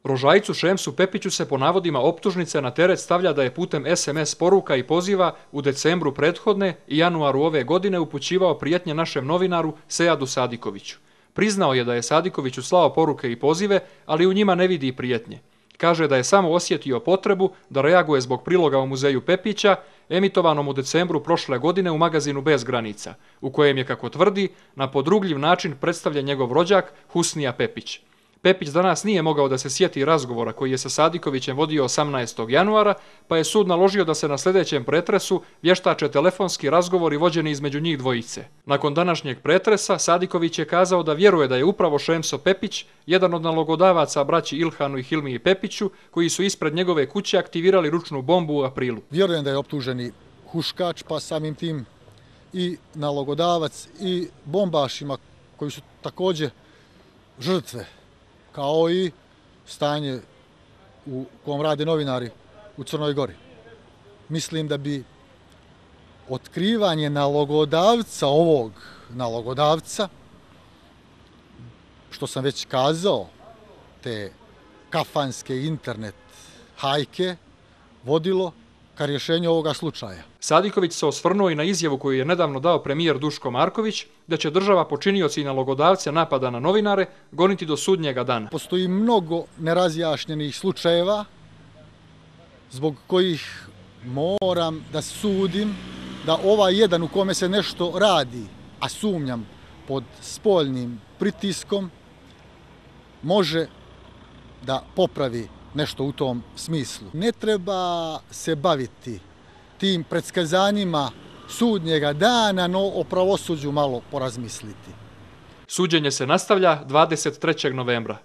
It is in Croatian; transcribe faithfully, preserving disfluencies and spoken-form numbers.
Rožajcu Šemsu Pepiću se po navodima optužnice na teret stavlja da je putem es em es poruka i poziva u decembru prethodne i januaru ove godine upućivao prijetnje našem novinaru Sejadu Sadikoviću. Priznao je da je Sadikoviću slao poruke i pozive, ali u njima ne vidi prijetnje. Kaže da je samo osjetio potrebu da reaguje zbog priloga u muzeju Pepića, emitovanom u decembru prošle godine u magazinu Bez granica, u kojem je, kako tvrdi, na podrugljiv način predstavljen njegov rođak Husnija Pepić. Pepić danas nije mogao da se sjeti razgovora koji je sa Sadikovićem vodio osamnaestog januara, pa je sud naložio da se na sljedećem pretresu vještače telefonski razgovori vođeni između njih dvojice. Nakon današnjeg pretresa Sadiković je kazao da vjeruje da je upravo Šemso Pepić jedan od nalogodavaca braći Ilhanu i Hilmiji Pepiću, koji su ispred njegove kuće aktivirali ručnu bombu u aprilu. Vjerujem da je optuženi huškač, pa samim tim i nalogodavac i bombašima koji su također žrtve, kao i stanje u kojem rade novinari u Crnoj Gori. Mislim da bi otkrivanje nalogodavca, ovog nalogodavca, što sam već kazao, te kafanske internet hajke, vodilo ka rješenju ovoga slučaja. Sadiković se osvrnuo i na izjavu koju je nedavno dao premijer Duško Marković da će država počinioci i nalogodavce napada na novinare goniti do sudnjega dana. Postoji mnogo nerazjašnjenih slučajeva zbog kojih moram da sudim da ovaj jedan u kome se nešto radi, a sumnjam pod spoljnim pritiskom, može da popravi nešto u tom smislu. Ne treba se baviti tim predskazanjima sudnjega dana, no o pravosuđu malo porazmisliti. Suđenje se nastavlja dvadeset trećeg novembra.